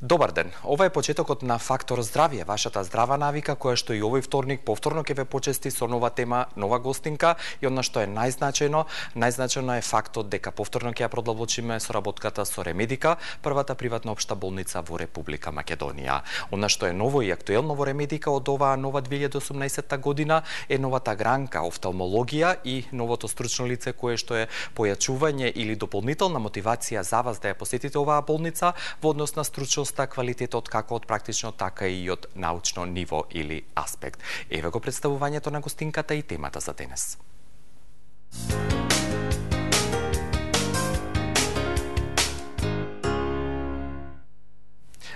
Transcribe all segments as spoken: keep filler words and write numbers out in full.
Добар ден. Ова е почетокот на Фактор здравје, вашата здрава навика која што и овој вторник повторно ќе ве почести со нова тема, нова гостинка и она што е најзначајно, најзначајно е фактот дека повторно ќе ја продолбочиме соработката со Ремедика, првата приватна општа болница во Република Македонија. Она што е ново и актуелно во Ремедика од оваа нова две илјади и осумнаесетта година е новата гранка офталмологија и новото стручно лице кое што е појачување или дополнителна мотивација за вас да ја посетите оваа болница во однос на стручност, квалитетот како од практично, така и од научно ниво или аспект. Еве го представувањето на гостинката и темата за денес.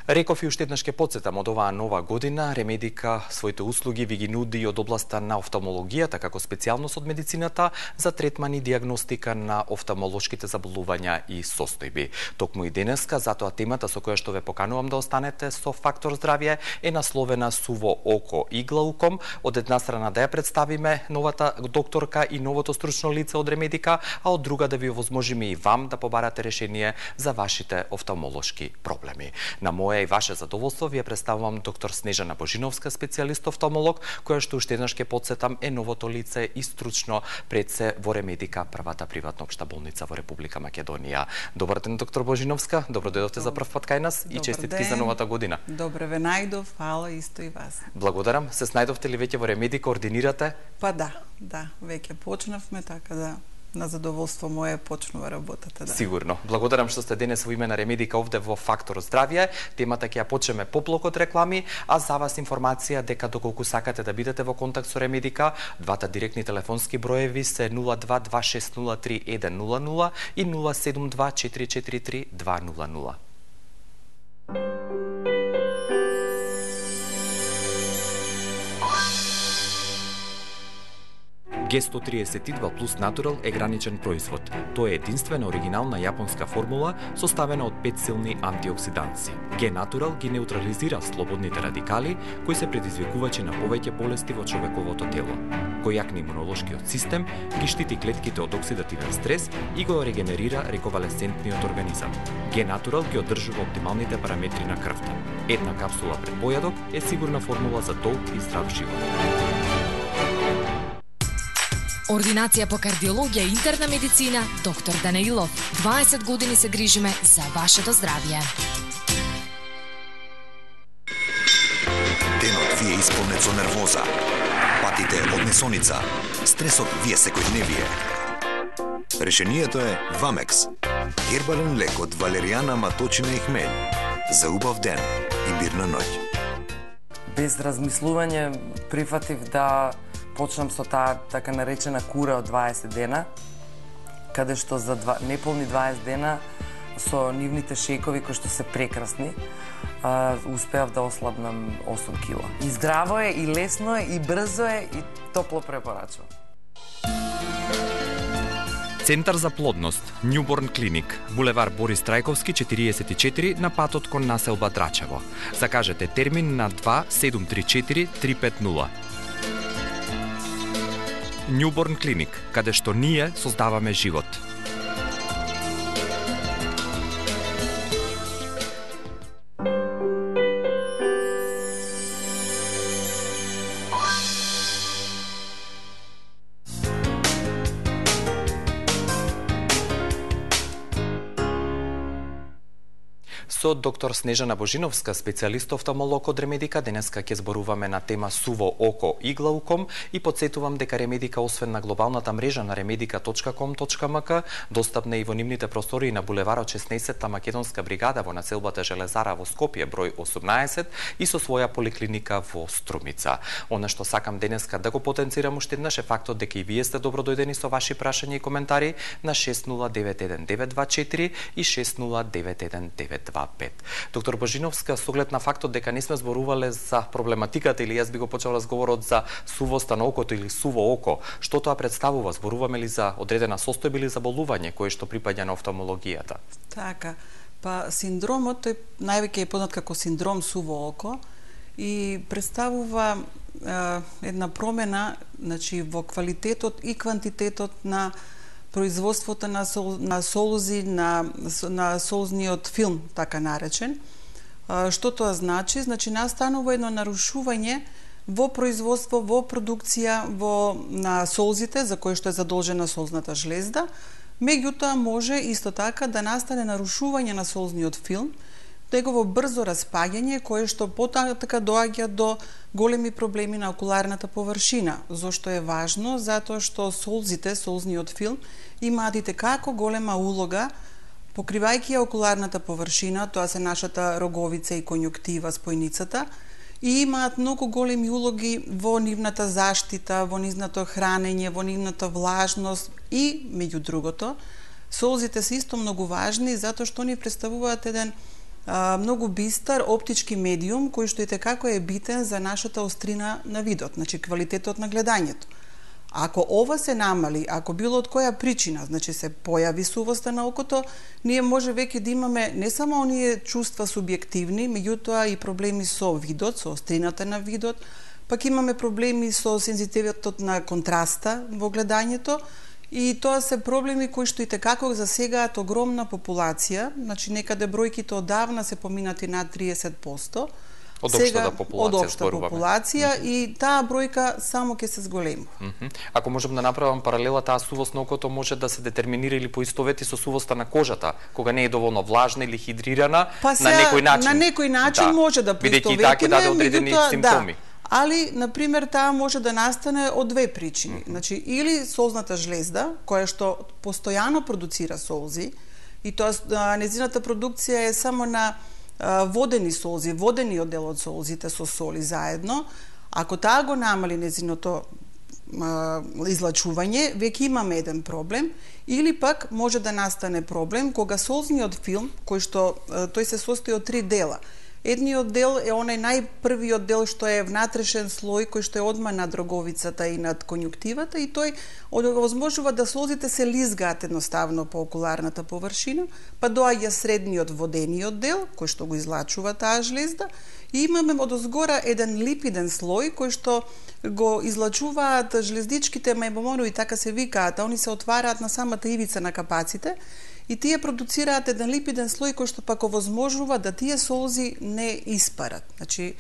Реков и уште еднаш ќе потсетам, од оваа нова година Ремедика своите услуги ви ги нуди од областа на офталмологијата како специјалност од медицината за третман и диагностика на офталмолошките заболувања и состојби. Токму и денеска, затоа темата со која што ве поканувам да останете со Фактор здравје е насловена Суво око и глауком. Од една страна да ја представиме новата докторка и новото стручно лице од Ремедика, а од друга да ви овозможиме и вам да побарате решение за вашите офталмолошки проблеми. На моја и ваше задоволство ви ја представувам доктор Снежана Божиновска, специјалист офталмолог, која што уште еднаш ќе потсетам е новото лице и стручно пред се во Ремедика, првата приватна општа болница во Република Македонија. Добар ден, доктор Божиновска, добро дојдовте за прв пат кај нас и честитки за новата година. Добре ве најдов, фала исто и вас. Благодарам. Се снајдовте ли веќе во Ремедика, ординирате? Па да, да, веќе почнавме, така да на задоволство мое почнува работата, да. Сигурно. Благодарам што сте денес во име на Ремедика овде во Фактор здравје. Темата ќе ја почнеме по блок од реклами, а за вас информација дека доколку сакате да бидете во контакт со Ремедика, двата директни телефонски броеви се нула два два шест нула три еден нула нула и нула седум два четири четири три два нула нула. Г сто триесет и два плюс Natural е граничен производ. Тоа е единствена оригинална јапонска формула составена од пет силни антиоксиданци. Г Natural ги неутрализира слободните радикали кои се предизвикувачи на повеќе болести во човековото тело. Кој јакне имунолошкиот систем, ги штити клетките од оксидативен стрес и го регенерира реконвалесцентниот организам. Г Natural ги одржува оптималните параметри на крвта. Една капсула пред појадок е сигурна формула за долг и здрав живот. Ординација по кардиологија и интерна медицина, доктор Данаилов. дваесет години се грижиме за вашето здравје. Денот ви е исполнет со нервоза, патите од несоница, стресот ви е секојдневие. Решението е Вамекс. Гербален лек од валеријана, маточина и хмелј. За убав ден и мирна ноќ. Без размислување прифатив да почнам со таа така наречена кура од дваесет дена, каде што за два, неполни дваесет дена со нивните шејкови кои што се прекрасни, а, успеав да ослабнам осум кила. И здраво е, и лесно е, и брзо е, и топло препорачувам. Центар за плодност, Newborn Clinic, булевар Борис Трајковски четириесет и четири на патот кон населба Драчево. Закажете термин на два седум три четири три пет нула. Newborn Clinic, каде што ние создаваме живот. Со доктор Снежана Божиновска, специјалист офталмолог од Ремедика, денеска ќе зборуваме на тема Суво око и глауком и подсетувам дека Ремедика, освен на глобалната мрежа на ремедика точка ком точка ем ка, достапна и во нивните простори на булеварот шеснаесетта македонска бригада во населбата Железара во Скопје број осумнаесет и со своја поликлиника во Струмица. Она што сакам денеска да го потенцирам уште еднаш е фактот дека и вие сте добродојдени со ваши прашања и коментари на шест нула девет еден девет два четири и шест нула девет еден девет два пет. Доктор Божиновска, со оглед на фактот дека не сме зборувале за проблематиката или јас би го почел разговорот за сувоста на окото или суво око, што тоа представува? Зборуваме ли за одредена состојба или заболување кое што припаѓа на офталмологијата? Така, па синдромот тој највеќе е познат како синдром суво око и представува е, една промена, значи во квалитетот и квантитетот на производството на, сол, на солузи, на, на солузниот филм, така наречен, Што тоа значи? Значи настанува едно нарушување во производство, во продукција, во на солзите за кои што е задолжена солзната жлезда. Меѓутоа може исто така да настане нарушување на солзниот филм, негово брзо распаѓање кое што потака доаѓа до големи проблеми на окуларната површина. Зошто е важно? Затоа што солзите, солзниот филм имаат и како голема улога покривајќи ја окуларната површина, тоа се нашата роговица и конјуктива, спојницата, и имаат многу големи улоги во нивната заштита, во нивното хранење, во нивната влажност и, меѓу другото, солзите се исто многу важни затоа што они представуваат еден а, многу бистар оптички медиум кој што и како е битен за нашата острина на видот, значи квалитетот на гледањето. Ако ова се намали, ако било од која причина, значи се појави сувоста на окото, ние може веќе да имаме не само оние чувства субјективни, меѓутоа и проблеми со видот, со острината на видот, пак имаме проблеми со сензитивитетот на контраста во гледањето, и тоа се проблеми кои што и како засегаат огромна популација, значи некаде бројките одавна се поминати над триесет проценти, Од општата популација, од општа популација, mm -hmm. и таа бројка само ќе се зголеми. Mm -hmm. Ако можам да направам паралела, таа сувост на окото може да се детерминира или поистовети со сувоста на кожата, кога не е доволно влажна или хидрирана, па на некој начин. На некој начин да. може да поистоветиме, бидејќи така даде одредени симптоми. Да. Али, например, таа може да настане од две причини. Mm -hmm. Значи, или солзната жлезда, која што постојано продуцира солзи, и тоа незината продукција е само на водени солзи, водениот дел од солзите со соли заедно. Ако таа го намали незиното излачување, веќе имаме еден проблем, или пак може да настане проблем кога солзниот филм, кој што тој се состои од три дела. Едниот дел е онај најпрвиот дел што е внатрешен слој кој што е одма над роговицата и над конјуктивата, и тој овозможува да солзите се лизгаат едноставно по окуларната површина, па доаѓа средниот водениот дел кој што го излачува таа жлезда, и имаме одозгора еден липиден слој кој што го излачуваат жлездичките мајбоморови, така се викаат, а они се отвараат на самата ивица на капаците, и тие продуцираат еден липиден слој кој што пак овозможува да тие солзи не испарат. Значи,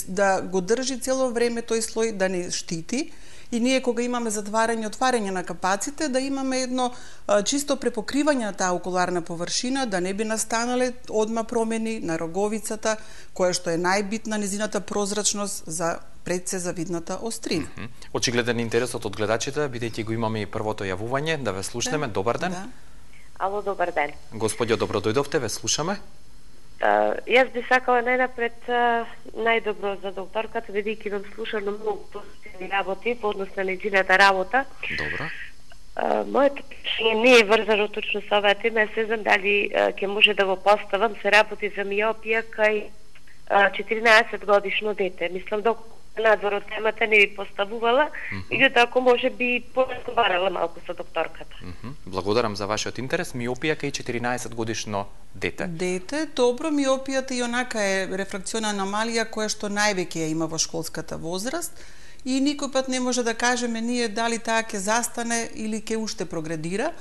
да го држи цело време тој слој, да не штити, и ние кога имаме затварање и отварање на капаците, да имаме едно а, чисто препокривање на таа окуларна површина, да не би настанале одма промени на роговицата, која што е најбитна незината прозрачност за пред се за видната острина. Mm -hmm. Очигледен интересот од гледачите, бидејќи го имаме и првото јавување, да ве слушнеме. Да. Добар ден. Да. Ало, добар ден. Господјо, добро дојдовте, ве слушаме. Uh, јас би сакала најнапред uh, најдобро за докторката, бидејќи вам слушам на многу позитивни работи по однос на нејзината работа. Добро. Uh, моето прашање не е врзано точно со оваа тема, се знам дали uh, ќе може да го поставам, се работи за миопија кај uh, четиринаесет годишно дете. Мислам, доколку надвор од темата не би поставувала, меѓутоа ако може би поразговарала малку со докторката. Mm -hmm. Благодарам за вашиот интерес. Миопија кај четиринаесет годишно дете. Дете, добро, миопијата и онака е рефракциона аномалија која што највеќе ја има во школската возраст, и никој пат не може да кажеме ние дали таа ќе застане или ќе уште прогредира.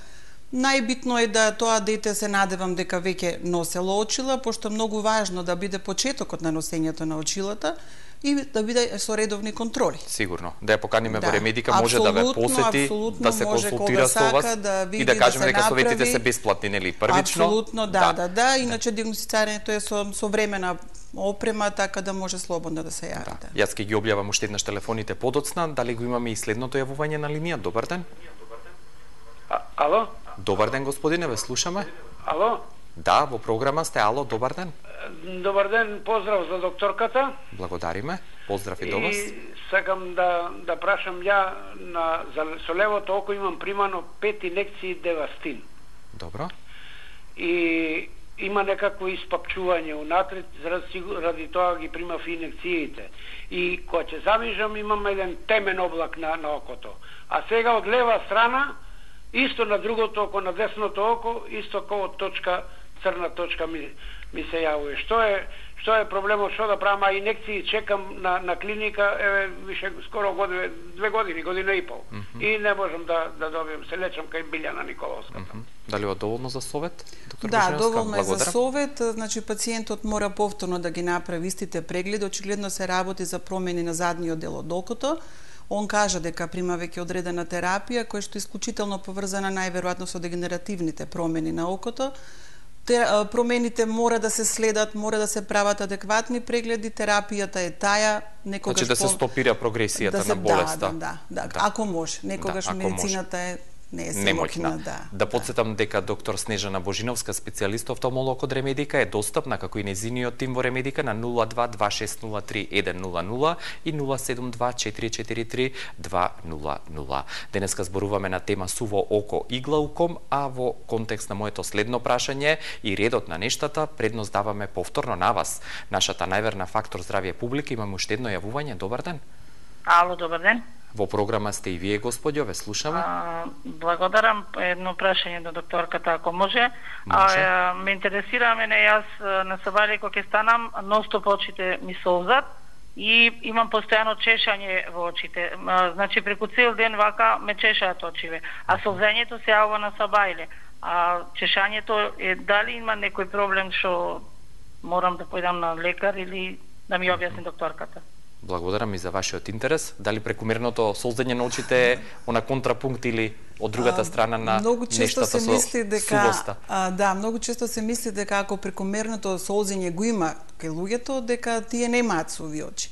Најбитно е да тоа дете, се надевам дека веќе носело очила, пошто е многу важно да биде почетокот на носењето на очилата и да биде со редовни контроли. Сигурно. Да ја поканиме да. во Ремедика, може да ве посети, да се консултира со вас, да види, и да кажеме да дека советите се бесплатни, нели, првично? Апсолутно, да, да, да, да. Иначе диагностицирањето е со современа опрема, така да може слободно да се јави. Да. Да. Јас ќе ги објавам уште еднаш телефоните подоцна. Дали го имаме и следното јавување на линија? Добар ден. А, ало? Добар ден, господине, ве слушаме. Ало? Да, во програма сте. Ало, добар ден. Добар ден, поздрав за докторката. Благодариме. Поздрав и до вас. И сакам да да прашам ја на за со левото око имам примано пет инекции девастин. Добро. И има некакво испапчување унатред, заради, ради тоа ги примав инекциите. И кога ќе завижам имам еден темен облак на на окото. А сега од лева страна исто на другото око, на десното око, исто како точка, црна точка ми, ми се јавува. Што е, што е проблемот, што да правам, а инекции чекам на, на клиника, еве, више скоро година, две години, година и пол. Mm -hmm. И не можам да, да добијам, се лечам кај Билјана Николовската. Mm -hmm. Дали е доволно за совет, доктор Да, Божиновска? доволно е за Благодарам. совет, значи пациентот мора повторно да ги направи истите прегледи, очигледно се работи за промени на задниот дел од окото. Он кажа дека прима веќе одредена терапија, која што е исклучително поврзана најверојатно со дегенеративните промени на окото. Те, промените мора да се следат, мора да се прават адекватни прегледи, терапијата е таа, некогаш Значи да се по... стопира прогресијата да се, на болеста. Да, да, да, да, Да. ако може. Некогаш Да, ако медицината е не е Немоќна. да. Да подсетам дека доктор Снежана Божиновска, специјалист офталмолог од Ремедика, е достапна како и нејзиниот тим во Ремедика на нула два два шест нула три еден нула нула и нула седум два четири четири три два нула нула. Денеска зборуваме на тема суво око и глауком, а во контекст на моето следно прашање и редот на нештата, предност даваме повторно на вас. Нашата најверна фактор здравје публика, имаме уште едно јавување. Добар ден. Ало, добар ден. Во програма сте и вие, господјо, ве слушаме. А, благодарам. Едно прашање до докторката, ако може. Може. А, ме интересира мене, јас на сабајле кога ќе станам, ностоп очите ми солзат и имам постојано чешање во очите. А, значи, преку цел ден вака ме чешаат очиве. А солзењето се јавува на сабајле. А чешањето е, дали има некој проблем што морам да појдам на лекар или да ми објасни докторката? Благодарам и за вашиот интерес. Дали прекумерното солзење на очите е на контрапункт или од другата страна на многу често нештата се со мисли дека сувоста? а, да, многу често се мисли дека ако прекумерното солзење го има кај луѓето, дека тие немаат суви очи.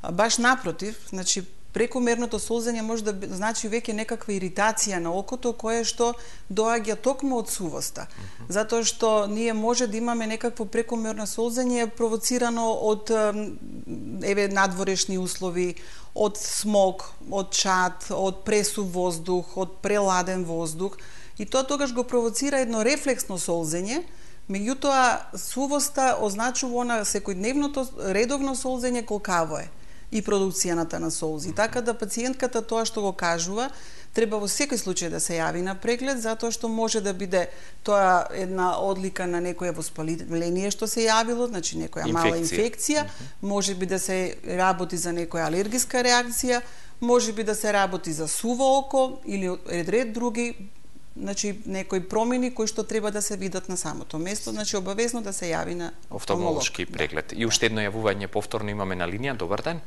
А, баш напротив, значи прекумерното солзење може да значи веќе некаква иритација на окото кое што доаѓа токму од сувоста. Mm-hmm. Затоа што ние може да имаме некакво прекумерно солзење провоцирано од еве надворешни услови, од смог, од чад, од пресув воздух, од преладен воздух, и тоа тогаш го провоцира едно рефлексно солзење. Меѓутоа сувоста означува она секојдневното редовно солзење колкаво е и продукцијаната на солзи. Така да пациентката тоа што го кажува, треба во секој случај да се јави на преглед, затоа што може да биде тоа една одлика на некоја воспаление што се јавило, значи некоја мала инфекција, mm -hmm. може би да се работи за некоја алергиска реакција, може би да се работи за суво око или ред ред други, значи некои промени кои што треба да се видат на самото место, значи обавезно да се јави на офталмолошки преглед. Да. И уште едно јавување повторно имаме на линија. Добар ден.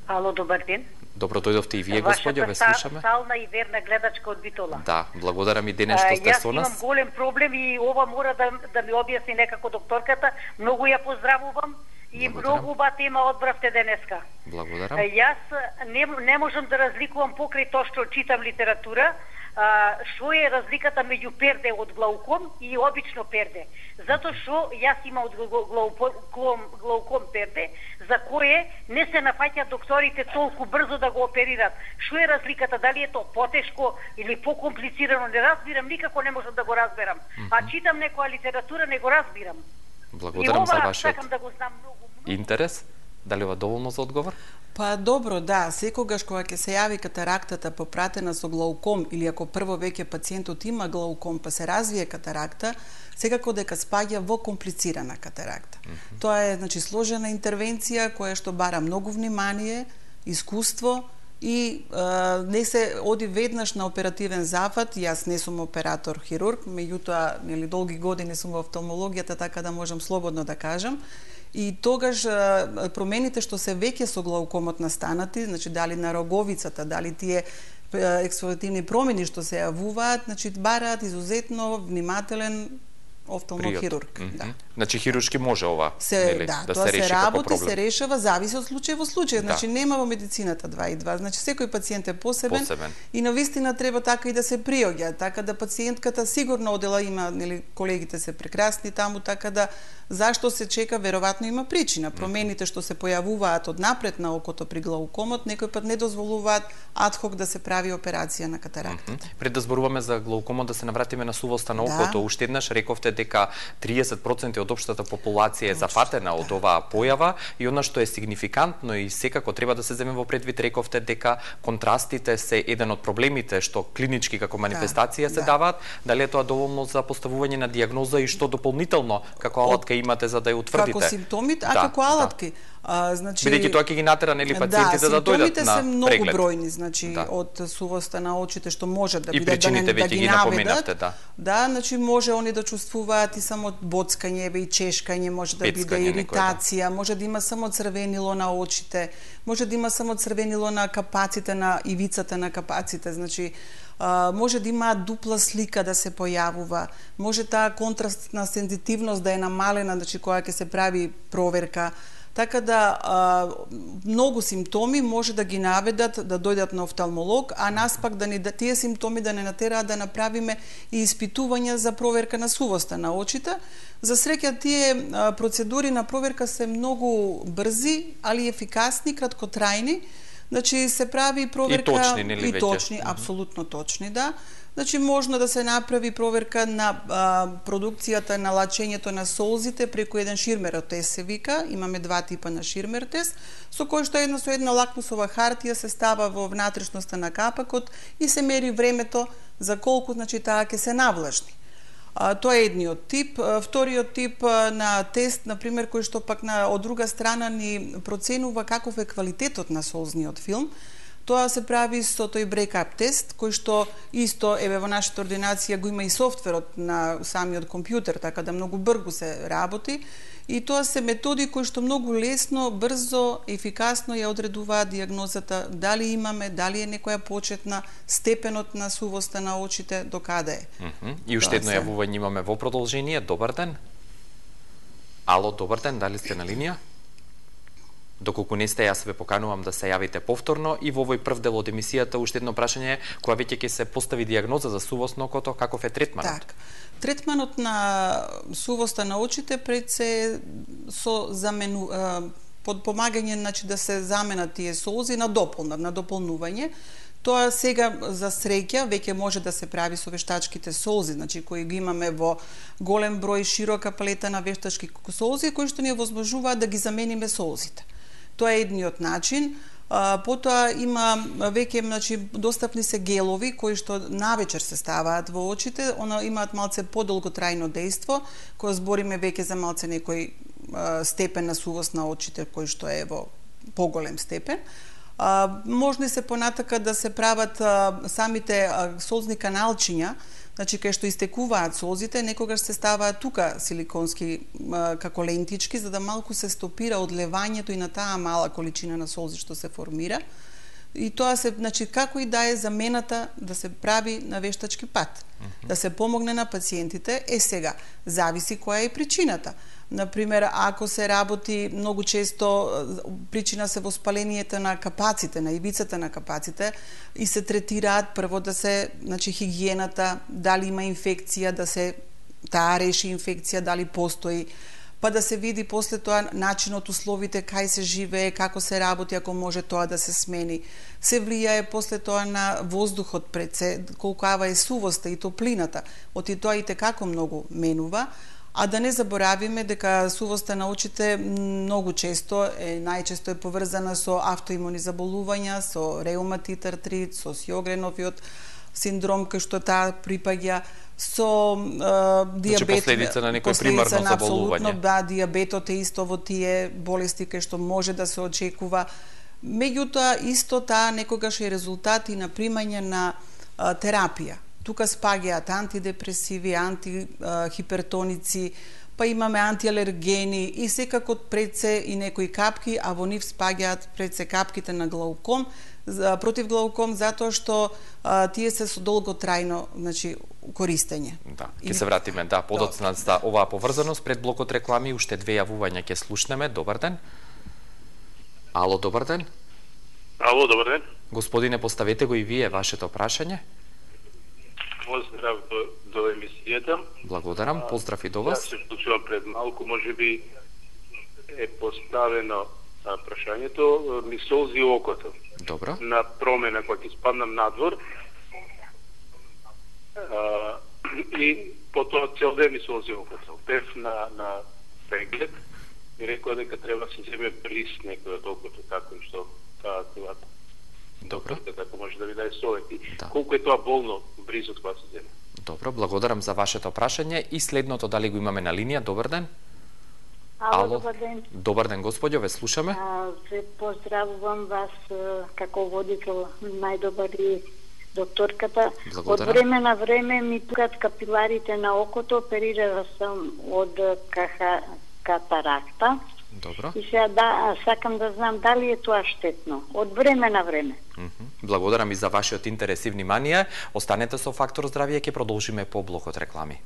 Ало, добар ден. Добро дојдовте и вие, господјо, ве слушаме. Вашата стална и верна гледачка од Битола. Да, благодарам и денес што сте со нас. Јас имам голем проблем и ова мора да, да ми објасни некако докторката. Многу ја поздравувам и благодарам. многу уба тема одбравте денеска. Благодарам. Јас не, не можам да разликувам покрај тоа што читам литература, а, што е разликата меѓу перде од глауком и обично перде. Затоа што јас имам од глауком, глауком перде, за кое не се нафаќаат докторите толку брзо да го оперират. Што е разликата? Дали е тоа потешко или покомплицирано? Не разбирам, никако не можам да го разберам. Mm -hmm. А читам некоја литература, не го разбирам. Благодарам за вашиот да го знам многу, многу. интерес. Дали ова доволно за одговор? Па добро, да, секогаш кога ќе се јави катарактата попратена со глауком или ако прво веќе пациентот има глауком па се развие катаракта, секако дека спаѓа во комплицирана катаракта. Mm -hmm. Тоа е, значи, сложена интервенција која што бара многу внимание, искуство и а, не се оди веднаш на оперативен зафат. Јас не сум оператор хирург, меѓутоа, нели, долги години сум во офталмологијата, така да можам слободно да кажам. И тогаш промените што се веќе со глаукомот настанати, значи дали на роговицата, дали тие ексфолиативни промени што се јавуваат, значи бараат изузетно внимателен офталмохирург. Mm -hmm. Да. Значи хируршки може ова, се, нели, да, да тоа се реши се работи, како проблем. се решава, зависи од случај во случај. Значи да. нема во медицината два и два. Значи секој пациент е посебен, посебен. И навистина треба така и да се приоѓа, така да пациентката сигурно одела има, нели, колегите се прекрасни таму, така да зашто се чека, веројатно има причина. Промените што се појавуваат од напред на окото при глаукомот, некој пат не дозволуваат адхок да се прави операција на катарактата. Mm -hmm. Пред да зборуваме за глаукомот, да се навратиме на сувоста на окото, да. Уште еднаш рековте дека триесет проценти од општата популација е зафатена од оваа појава и она што е сигнификантно и секако треба да се земе во предвид, рековте дека контрастите се еден од проблемите што клинички како манифестација се даваат, дали е тоа доволно за поставување на дијагноза и што дополнително како алатка имате за да ја утврдите? Како симптомите, а како алатки. А, значи, бидејќи тоа ќе ги натера нели пациентите да, да дојдат на преглед. Да, симптомите се многу бројни, значи да. од сувоста на очите што може да биде да не да ги напоминавте, да. Да, значи може они да чувствуваат и само боцкање и чешкање, може да Пецкање, биде иритација, некој, да. може да има само црвенило на очите, може да има само црвенило на капаците на ивицата на капаците, значи Uh, може да има дупла слика да се појавува, може таа контрастна сензитивност да е намалена, значи кога ќе се прави проверка. Така да uh, многу симптоми може да ги наведат да дојдат на офталмолог, а нас пак да ни да тие симптоми да не натераат да направиме и испитувања за проверка на сувоста на очите. За среќа тие uh, процедури на проверка се многу брзи, али ефикасни, краткотрајни. Значи се прави проверка и точни, нели, и точни, веќе? апсолутно точни, да. Значи можно да се направи проверка на а, продукцијата на лачењето на солзите преку еден ширмер тест се вика, имаме два типа на ширмер тест, со кој што една со една лакмусова хартија се става во внатрешноста на капакот и се мери времето за колку значи таа ќе се навлажни. А, тоа е едниот тип. А, вториот тип а, на тест, например, кој што пак на од друга страна ни проценува каков е квалитетот на солзниот филм, тоа се прави со тој брейкап тест, кој што исто еве во нашата ординација го има и софтверот на самиот компјутер, така да многу брзо се работи. И тоа се методи кои што многу лесно, брзо, ефикасно ја одредуваат дијагнозата, дали имаме, дали е некоја почетна, степенот на сувоста на очите, до каде е. Mm -hmm. И уште едно јавување имаме во продолжение. Добар ден. Ало, добар ден, дали сте на линија? Доколку не сте, јас ве поканувам да се јавите повторно и во овој прв дел од емисијата уште едно прашање, кога веќе ќе се постави дијагноза за сувост на окото, каков е третманот? Так. Третманот на сувоста на очите пред се со замену под помагање, значи да се заменат тие солзи на дополнат, на дополнување. Тоа сега за среќа веќе може да се прави со вештачките солзи, значи кои ги имаме во голем број, широка палета на вештачки солзи кои што ни овозможуваат да ги замениме солзите. Тоа е едниот начин. А, потоа има веќе, значи, достапни се гелови кои што навечер се ставаат во очите, она имаат малце подолготрајно дејство, кога збориме веќе за малце некој а, степен на сувост на очите кој што е во поголем степен. А, можно се понатака да се прават а, самите а, солзни каналчиња, значи кај што истекуваат солзите, некогаш се ставаат тука силиконски а, како лентички, за да малку се стопира одлевањето и на таа мала количина на солзи што се формира. И тоа се, значи, како и да е замената да се прави на вештачки пат, mm -hmm. да се помогне на пациентите. Е сега, зависи која е причината. Например, ако се работи многу често причина се воспалението на капаците, на ивицата на капаците и се третираат прво да се, значи хигиената, дали има инфекција, да се таа реши инфекција, дали постои, па да се види после тоа начинот, условите, кај се живее, како се работи, ако може тоа да се смени. Се влијае после тоа на воздухот пред се, колкава е сувоста и топлината. Оти тоа и текако многу менува. А да не заборавиме дека сувоста на очите многу често е најчесто е поврзана со автоимуни заболувања, со реуматит, артрит, со Сјогреновиот синдром кој што таа припаѓа, со е, дијабет, значи последица на некој примарно на заболување. Да, дијабетот е исто во тие болести кои што може да се очекува. Меѓутоа исто таа некогаш е резултат и на примање на а, терапија. Тука спаѓаат антидепресиви, антихипертоници, па имаме антиалергени и секако пред се и некои капки, а во нив спаѓаат пред се капките на глауком, против глауком, затоа што а, тие се со долготрајно, значи, користење. Да, ќе се вратиме, да, подоцна за оваа поврзаност. Пред блокот реклами уште две јавувања ќе слушнеме. Добар ден. Ало, добар ден. Ало, добар ден. Господине, поставете го и вие вашето прашање. Поздрав до, до емисијата. Благодарам, поздрав и до вас. Јас се вклучувам пред малку, може би е поставено а, прашањето, ми солзи окото. Добро. На промена, кога ќе спаднам надвор, а, И потоа цел ден ми се ози окото. Бев на, на преглед и рекоа дека треба да се земе бриз некој од окото, како и што таа тоа. Добро. Така може да ви даде совети. Да. Колку е тоа болно близо кога се земе. Добро, благодарам за вашето прашање и следното дали го имаме на линија. Добар ден. Ало, добар ден. Добар ден, господјо, ве слушаме. А, ве поздравувам вас како водител, најдобар и докторката. Благодарам. Од време на време ми пукат капиларите на окото, оперирала сам од каха, катаракта. Добро. И сега да, сакам да знам дали е тоа штетно. Од време на време. Mm-hmm. Благодарам и за вашиот интерес и внимание. Останете со Фактор здравје, ќе продолжиме по блокот реклами.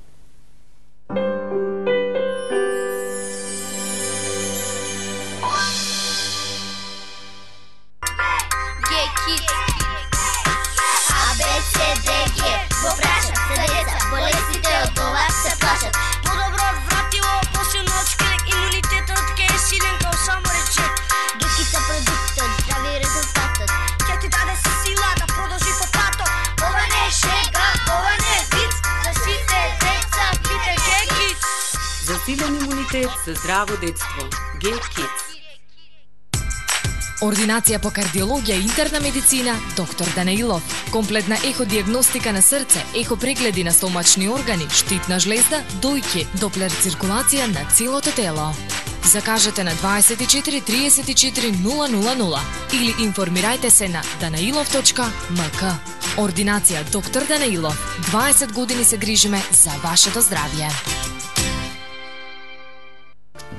Засилен имунитет за здраво детство. Get-Kids. Ординација по кардиологија и интерна медицина, доктор Данаилов. Комплетна еходиагностика на срце, ехопрегледи на стомачни органи, штитна жлезда, дојки, доплер циркулација на целото тело. Закажете на дваесет и четири триесет и четири нула нула нула или информирајте се на данаилов точка ем ка. Ординација доктор Данаилов. дваесет години се грижиме за вашето здравје.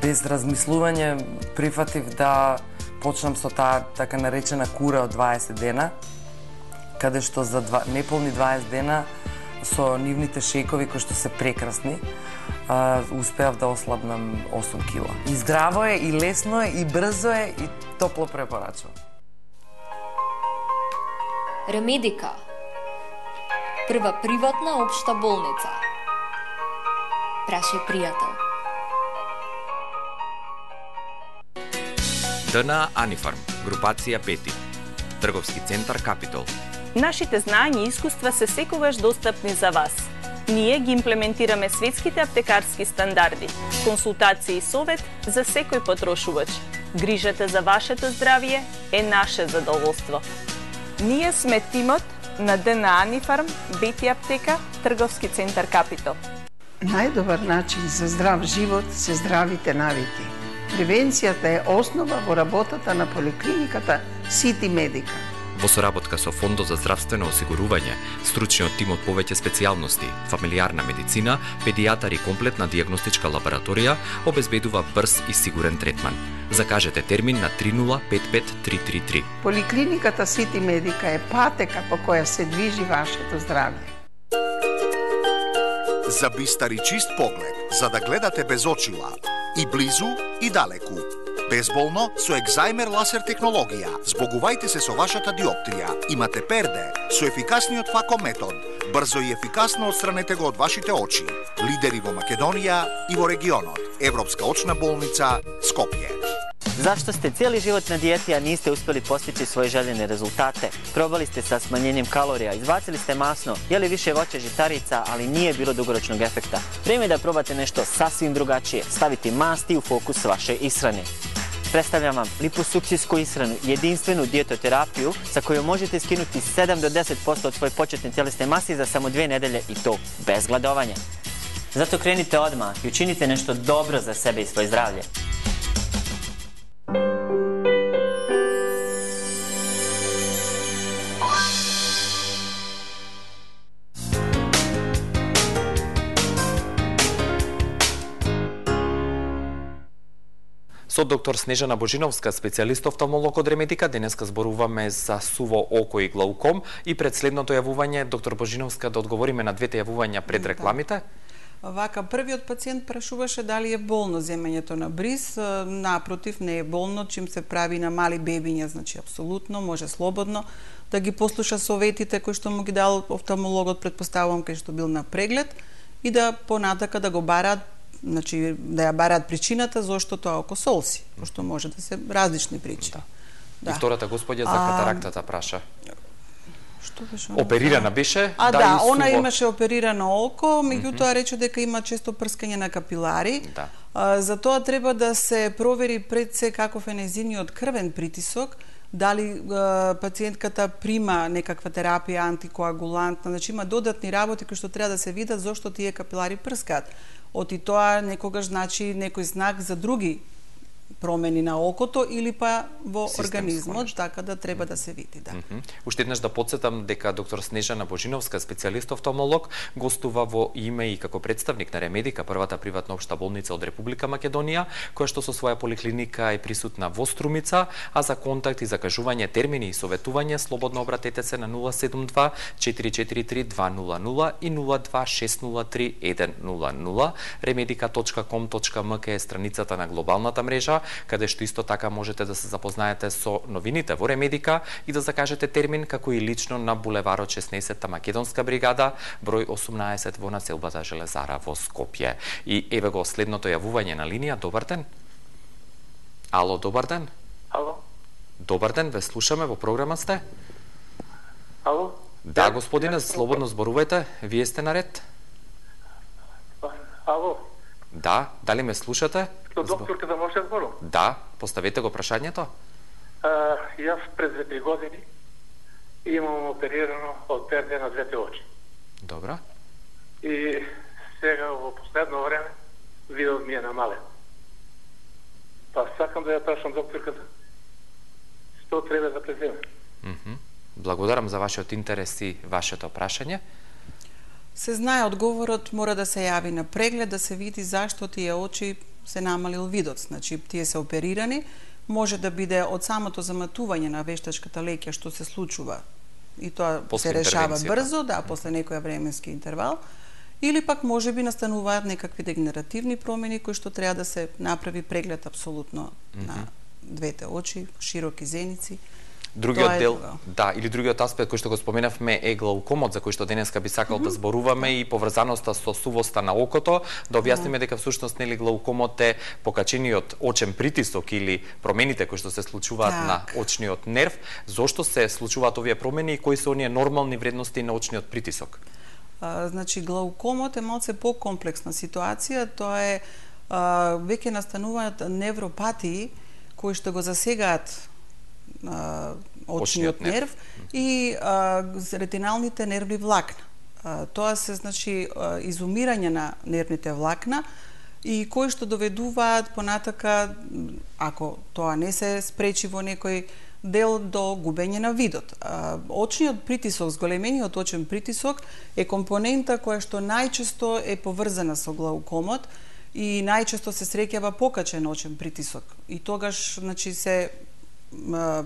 Без размислување прифатив да почнам со таа така наречена кура од дваесет дена, каде што за два, неполни дваесет дена со нивните шекови кои што се прекрасни, а, успеав да ослабнам осум кила. И здраво е, и лесно е, и брзо е, и топло препорачувам. Ремедика. Прва приватна општа болница. Праше пријател. ДНА Анифарм, групација Пети, трговски центар Капитол. Нашите знања и искуства се секогаш достапни за вас. Ние ги имплементираме светските аптекарски стандарди, консултација и совет за секој потрошувач. Грижата за вашето здравје е наше задоволство. Ние сме тимот на ДНА Анифарм, Бети аптека, трговски центар Капитол. Најдобар начин за здрав живот се здравите навики. Превенцијата е основа во работата на поликлиниката Сити Медика. Во соработка со Фондот за здравствено осигурување, стручниот тим од повеќе специјалности, фамилиарна медицина, педијатар и комплетна дијагностичка лабораторија обезбедува брз и сигурен третман. Закажете термин на три нула пет пет три три три. Поликлиниката Сити Медика е патека по која се движи вашето здравје. За бистар и чист поглед, за да гледате без очила, и близу, и далеку. Безболно со Екзајмер ласер технологија. Збогувајте се со вашата диоптрија. Имате перде со ефикасниот фако метод. Брзо и ефикасно отстранете го од вашите очи. Лидери во Македонија и во регионот. Европска очна болница Скопје. Зашто сте цели живот на диети, а нисте успели постичи своји желени резултате? Пробали сте sa smanjenjem kalorija, izbacili ste masno, jeli više voća žitarica, ali nije bilo dugoročnog efekta. Vrijeme je da probate nešto sasvim drugačije, staviti masti u fokus vaše ishrane. Predstavljam vam liposukcijsku ishranu, jedinstvenu dijetoterapiju sa kojom možete skinuti sedam do deset posto od svoje početne tjelesne mase za samo dve nedelje i to bez gladovanja. Zato krenite odmah i učinite nešto dobro za sebe i svoje zdravlje. Со доктор Снежана Божиновска, специјалист офталмолог од Ремедика, денеска зборуваме за суво око и глауком и пред следното јавување, доктор Божиновска, да одговориме на двете јавувања пред рекламите. Вака, првиот пациент прашуваше дали е болно земењето на бриз. Напротив, не е болно, чим се прави на мали бебиња, значи апсолутно, може слободно да ги послуша советите кои што му ги дал офталмологот, предпоставувам кај што бил на преглед, и да понатака да го бараат, значи да ја бараат причината зошто тоа око солси, пошто може да се различни причини. Да. Да. И втората господја за катарактата праша. Што беше? Оперирана беше? А да, да она суво... имаше оперирано око, меѓутоа рече дека има често прскање на капилари. Да. А, за тоа треба да се провери пред се каков е нејзиниот крвен притисок, дали а, пациентката прима некаква терапија антикоагулантна, значи има додатни работи кои што треба да се видат зошто тие капилари прскаат. Оти тоа некогаш значи некој знак за други промени на окото или па во Системско организмот, нешто. така да треба да се види, да. Mm -hmm. Уште еднаш да подсетам дека доктор Снежана Божиновска, специјалист офталмолог, гостува во име и како представник на Ремедика, првата приватна општа болница од Република Македонија, која што со своја поликлиника е присутна во Струмица, а за контакт и закажување, термини и советување слободно обратете се на нула седум два четири четири три два нула нула и нула два шест нула три еден нула нула. ремедика точка ком точка ем ка е страницата на глобалната мрежа, каде што исто така можете да се запознаете со новините во Ремедика и да закажете термин, како и лично на булеварот шеснаесетта Македонска бригада, број осумнаесет во населбата Железара во Скопје. И еве го следното јавување на линија. Добар ден. Ало, добар ден. Ало. Добар ден, ве слушаме, во програма сте. Ало. Да, господине, слободно зборувајте, вие сте наред. Ало. Да, дали ме слушате? Со докторка да може да зборам? Да, поставете го прашањето. А, јас пред две години имам оперирано од перде на двете очи. Добро. И сега во последно време видот ми е намален. Па сакам да ја прашам докторката што треба да преземе. Mm -hmm. Благодарам за вашиот интерес и вашето прашање. Се знае одговорот, мора да се јави на преглед, да се види зашто тие очи се намалил видот. Значи, тие се оперирани, може да биде од самото заматување на вештачката леќа што се случува и тоа после се решава брзо, да, после некоја временски интервал, или пак може би настануваат некакви дегенеративни промени кои што треба да се направи преглед апсолутно mm -hmm. на двете очи, широки зеници. Другиот е дел, друго. да, или другиот аспект кој што го споменавме е глаукомот, за кој што денеска би сакал mm -hmm. да зборуваме и поврзаноста со сувоста на окото, да објасниме mm -hmm. дека всушност нели глаукомот е покачениот очен притисок или промените кои што се случуваат так. на очниот нерв. Зошто се случуваат овие промени и кои се оние нормални вредности на очниот притисок? А, значи глаукомот е малце покомплексна ситуација, тоа е а, веќе настануваат невропатии кои што го засегаат а, очниот нерв, нерв и а, ретиналните нервни влакна. А, тоа се значи а, изумирање на нервните влакна и кои што доведуваат понатака, ако тоа не се спречи во некој дел, до губење на видот. А, очниот притисок, зголемениот очен притисок е компонента која што најчесто е поврзана со глаукомот и најчесто се среќава покачен очен притисок. И тогаш значи се а,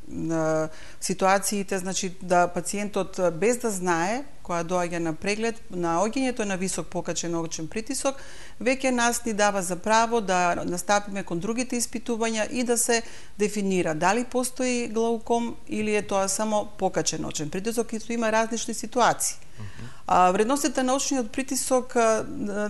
на ситуациите, значи да пациентот без да знае, која доаѓа на преглед, наоѓањето на висок покачен очен притисок, веќе нас ни дава за право да настапиме кон другите испитувања и да се дефинира дали постои глауком или е тоа само покачен очен притисок, и има различни ситуации. Mm-hmm. А, вредностите на очниот притисок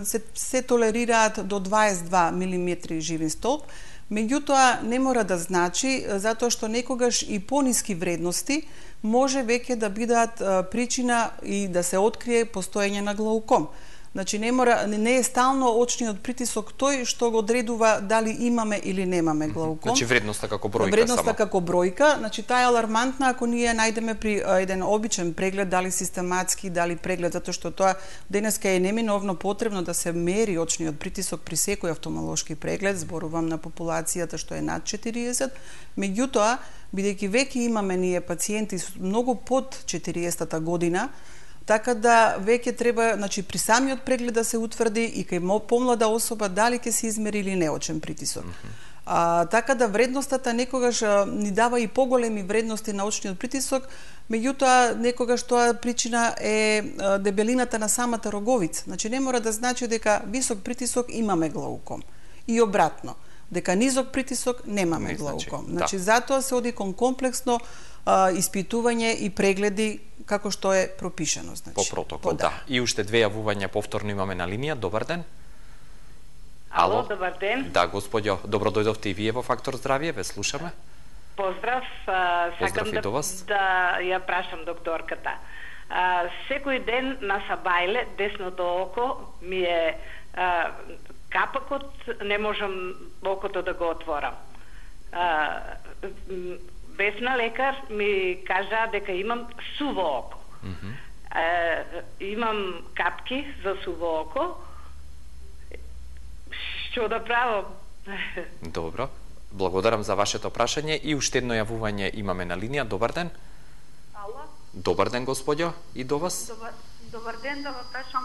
се, се толерираат до дваесет и два милиметри живин столб, меѓутоа не мора да значи, затоа што некогаш и пониски вредности може веќе да бидат причина и да се открие постоење на глауком. Значи не мора, не е стално очниот притисок тој што го одредува дали имаме или немаме глауком. Значи вредноста како бројка вредноста само. како бројка, значи таа е алармантна ако ние најдеме при еден обичен преглед, дали систематски, дали преглед, затоа што тоа денеска е неминовно потребно да се мери очниот притисок при секој офталмолошки преглед, зборувам на популацијата што е над четириесет, меѓутоа бидејќи веќе имаме ние пациенти многу под четириесетта година, така да веќе треба, значи при самиот преглед да се утврди и кај помлада особа дали ќе се измери или не очен притисок. Mm-hmm. А, така да вредностата некогаш а, ни дава и поголеми вредности на очниот притисок, меѓутоа некогаш тоа причина е а, дебелината на самата роговица. Значи не мора да значи дека висок притисок имаме глауком и обратно, дека низок притисок немаме не глауком. Значи, да. Затоа се оди кон комплексно а, испитување и прегледи како што е пропишано, значи. По протокол, по, да. да. И уште две јавувања повторно имаме на линија. Добар ден. Ало, добар ден. Да, господјо, добро дојдовте и вие во Фактор здравје, ве слушаме. Поздрав, а, сакам Поздрав да, да ја прашам докторката. А, секој ден на сабајле, десното око ми е а, капакот, не можам окото да го отворам. А, бесна лекар ми кажа дека имам суво око. Mm -hmm. а, имам капки за суво око. Што да правам? Добро. Благодарам за вашето прашање и уште едно јавување имаме на линија. Добар ден. Ало. Добар ден, господјо, и до вас. Добар, добар ден, да ве прашам.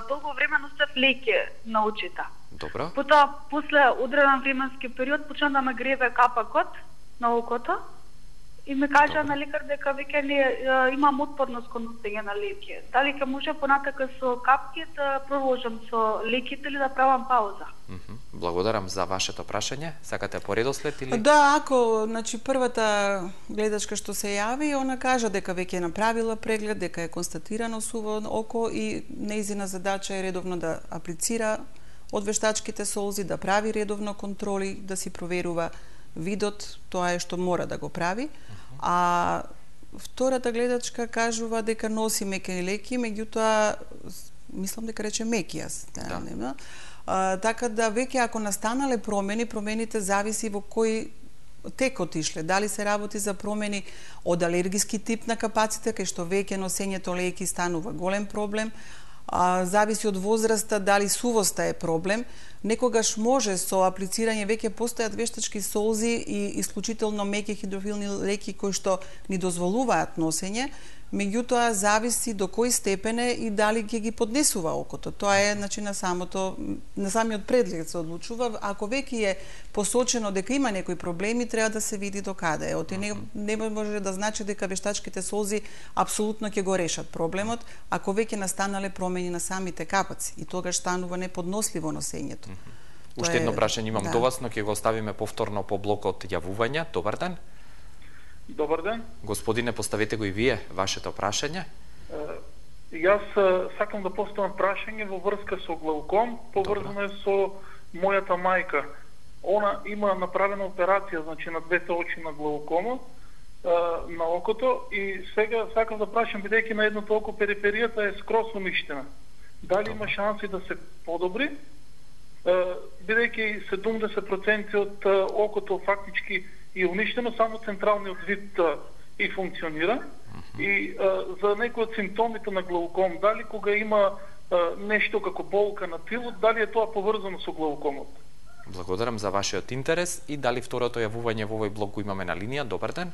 Долго време носев леки на очите. Добро. Потоа, после одреден временски период, почна да ме греве капакот на окото и ме кажа на лекар дека веќе не имам отпорност кон носење на леки. Дали ќе може понатака со капки да продолжам со леките или да правам пауза? Mm -hmm. Благодарам за вашето прашање. Сакате по редослед или? Да, ако, значи, првата гледачка што се јави, она кажа дека веќе е направила преглед, дека е констатирано суво око и нејзина задача е редовно да аплицира од вештачките солзи, да прави редовно контроли, да си проверува видот, тоа е што мора да го прави. А втората гледачка кажува дека носи меки леки, меѓутоа мислам дека рече меки јас. Да. Нема. А, така да веќе ако настанале промени, промените зависи во кој тек отишле. Дали се работи за промени од алергиски тип на капаците, кај што веќе носењето леки станува голем проблем, а, зависи од возраста, дали сувоста е проблем. Некогаш може со аплицирање, веќе постојат вештачки солзи и исклучително меки хидрофилни леки кои што ни дозволуваат носење, меѓутоа зависи до кој степен е и дали ќе ги поднесува окото. Тоа е, значи, на самото на самиот предлег се одлучува. Ако веќе е посочено дека има некои проблеми, треба да се види до каде е. Оти не, не може да значи дека вештачките солзи апсолутно ќе го решат проблемот, ако веќе настанале промени на самите капаци и тогаш станува неподносливо носењето. Mm-hmm. Уште едно прашање имам да. до вас, но ќе го оставиме повторно по блокот јавувања. Добар ден. Добар ден. Господине, поставете го и вие вашето прашање. И јас сакам да поставам прашање во врска со глауком, поврзано е со мојата мајка. Она има направена операција, значи на двете очи на глаукома, на окото, и сега сакам да прашам, бидејќи на едното око периферијата е скрос уништена. Дали има шанси да се подобри? Бидејќи седумдесет проценти од окото фактички и уништено, само централниот вид а, и функционира. Uh-huh. И а, за некои од симптомите на глауком, дали кога има а, нешто како болка на тилот, дали е тоа поврзано со глаукомот? Благодарам за вашиот интерес и дали второто јавување во овој блок го имаме на линија. Добар ден.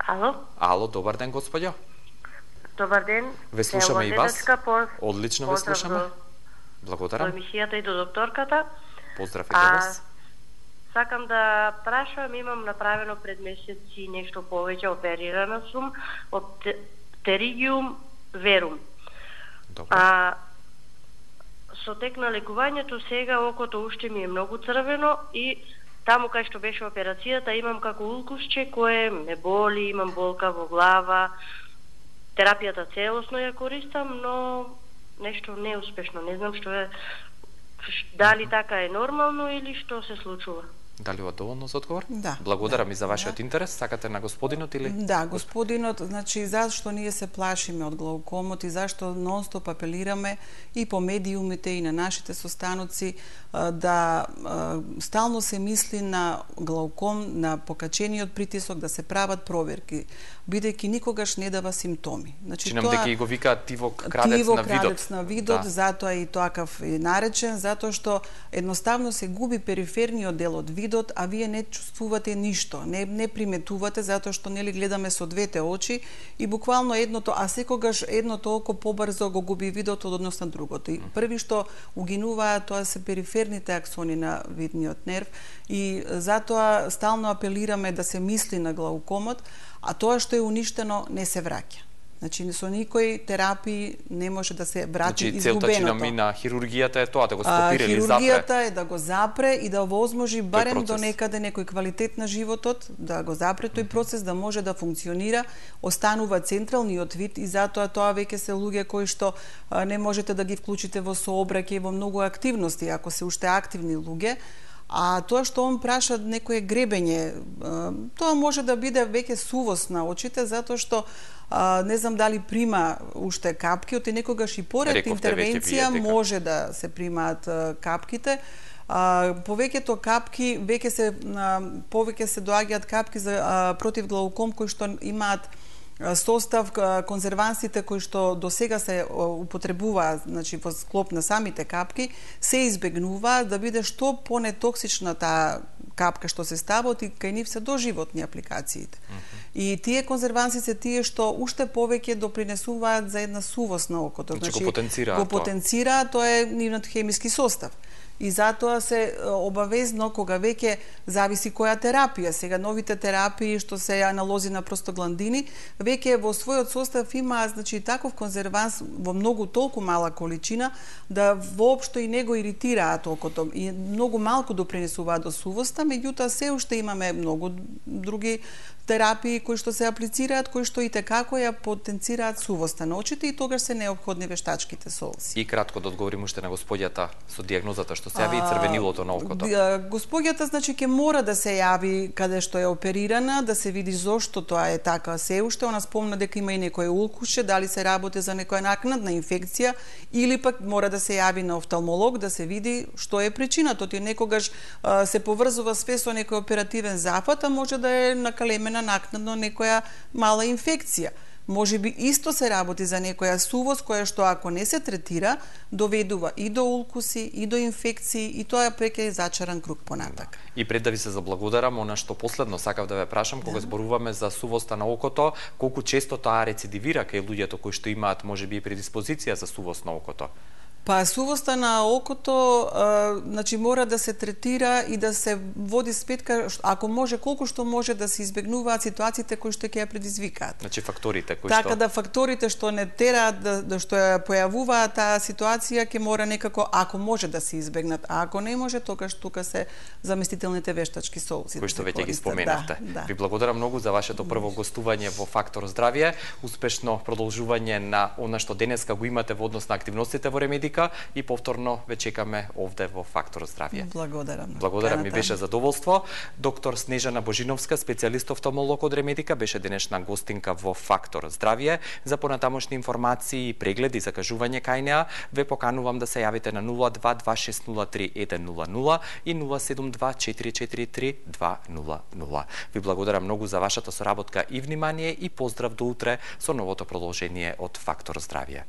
Ало. Ало, добар ден, господјо. Добар ден. Ве слушаме и вас. Поз... Одлично ве слушаме. До... Благодарам. До емисијата и до докторката. Поздрав и до вас. Сакам да прашам, имам направено пред месеци нешто повеќе, оперирана сум од теригиум верум. Добро. А, со тек на лекувањето сега окото уште ми е многу црвено и таму кај што беше операцијата имам како улкусче кое ме боли, имам болка во глава. Терапијата целосно ја користам, но нешто неуспешно. Не знам што е, дали така е нормално или што се случува. Дали ова доволно за одговор? Да. Благодарам да, и за вашиот да. интерес. Сакате на господинот или? Да, господинот, значи зашто ние се плашиме од глаукомот и зашто нонстоп апелираме и по медиумите и на нашите состаноци да стално се мисли на глауком, на покачениот притисок, да се прават проверки, бидејќи никогаш не дава симптоми. Значи Чинам дека и го викаат тивок крадец тивок, на видот. крадец на видот, да. затоа и тоакав е наречен, затоа што едноставно се губи периферниот дел од видот, а вие не чувствувате ништо, не не приметувате затоа што нели гледаме со двете очи и буквално едното, а секогаш едното око побрзо го губи видот од однос на другото. И први што угинуваат тоа се периферните аксони на видниот нерв и затоа стално апелираме да се мисли на глаукомот, а тоа што е уништено не се враќа. Значи, со никој терапии не може да се врати значи, изгубеното. Значи, целта на хирургијата е тоа, да го стопира или запре? Хирургијата е да го запре и да овозможи барем до некаде некој квалитет на животот, да го запре тој процес, да може да функционира, останува централниот вид и затоа тоа веќе се луѓе кои што не можете да ги вклучите во сообраќај, во многу активности, ако се уште активни луѓе, А тоа што он праша некое гребење, тоа може да биде веќе сувост на очите, затоа што не знам дали прима уште капки, оти некогаш и поред интервенција може да се примаат капките. Повеќето капки веќе се повеќе се доаѓаат капки за против глауком кои што имаат состав конзервансите кои што до сега се употребуваат, значи во склоп на самите капки, се избегнуваат да биде што понетоксична таа капка што се става, и кај нив се доживотни апликациите. Mm -hmm. И тие конзерванси се тие што уште повеќе допринесуваат за една сувост на окото. Значи, значи го потенцираат. Го потенцираат, тоа е нивниот хемиски состав. И затоа се обавезно, кога веќе зависи која терапија, сега новите терапии што се аналози на простагландини, веќе во својот состав има, значи, таков конзерванс во многу толку мала количина да воопшто и не го иритираат окото и многу малку допринесуваат до сувоста, меѓутоа се уште имаме многу други терапии кои што се аплицираат, кои што и текако ја потенцираат сувоста на очите и тогаш се неопходни вештачките солзи. И кратко да одговорим уште на господјата со дијагнозата што се јави и црвенилото на окото. Господјата, значи, ќе мора да се јави каде што е оперирана, да се види зошто тоа е така се уште. Она спомна дека има и некој улкуше, дали се работи за некоја накнадна инфекција или пак мора да се јави на офталмолог да се види што е причината. Тој некогаш а, се поврзува све со некој оперативен зафат, а може да е накалемена накнадно некоја мала инфекција. Може би исто се работи за некоја сувост која што ако не се третира, доведува и до улкуси, и до инфекции, и тоа веќе е зачаран круг понатак. И пред да ви се заблагодарам, она што последно сакав да ве прашам, кога да. зборуваме за сувоста на окото, колку често тоа рецидивира кај луѓето кои што имаат можеби и предиспозиција за сувост на окото? Па сувоста на окото, а, значи мора да се третира и да се води сметка, ако може, колку што може да се избегнуваат ситуациите кои што ќе ја предизвикаат. Значи факторите кои така што... Така да факторите што не тераат да, да што ја појавуваат таа ситуација ќе мора некако, ако може да се избегнат, а ако не може, тогаш тука се заместителните вештачки солзи. Кои што да веќе ги споменавте. Да, да. Ви благодарам многу за вашето прво гостување во Фактор здравје, успешно продолжување на она што денеска го имате во однос на активностите во Ремедика и повторно ве чекаме овде во Фактор здравје. Благодарам. Благодарам, ми беше задоволство. Доктор Снежана Божиновска, специјалист офталмолог од Ремедика, беше денешна гостинка во Фактор здравје. За понатамошни информации и прегледи за кажување кај неа, ве поканувам да се јавите на нула два два шест нула три еден нула нула и нула седум два четири четири три два нула нула. Ви благодарам многу за вашата соработка и внимание и поздрав до утре со новото продолжение од Фактор здравје.